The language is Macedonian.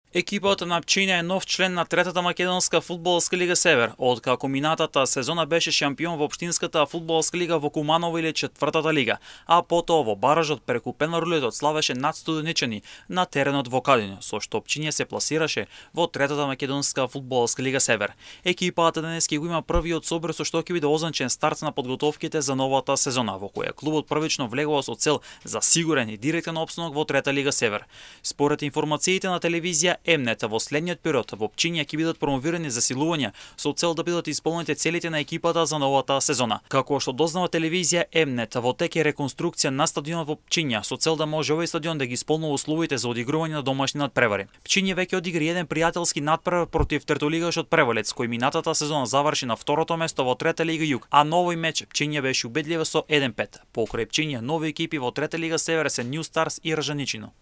Екипата на Пчиња е нов член на третата македонска фудбалска лига Север, откако минатата сезона беше шампион во општинската фудбалска лига во Куманово или четвртата лига, а потоа во баражот преку пенарулетот славеше над студеничани на теренот во Кадино, со што Пчиња се пласираше во третата македонска фудбалска лига Север. Екипата денес ќе го има првиот собир со што ќе биде означен старт на подготовките за новата сезона, во која клубот првично влегува со цел за сигурен и директен опстанок во трета лига Север. Според информациите на телевизија М-нет, во следниот период во Пчиња ќе бидат промовирани засилувања со цел да бидат исполнети целите на екипата за новата сезона. Како што дознава телевизија М-нет, во тек е реконструкција на стадионот во Пчиња со цел да може овој стадион да ги исполнува условите за одигрување на домашни надпревари. Пчиња веќе одигра еден пријателски надпревар против третолигашот Превалец, кој минатата сезона заврши на второто место во трета лига Југ, а на овој меч Пчиња беше убедлива со 1-5. Покрај Пчиња нови екипи во трета лига Север се Нју Старс и Ржаничино.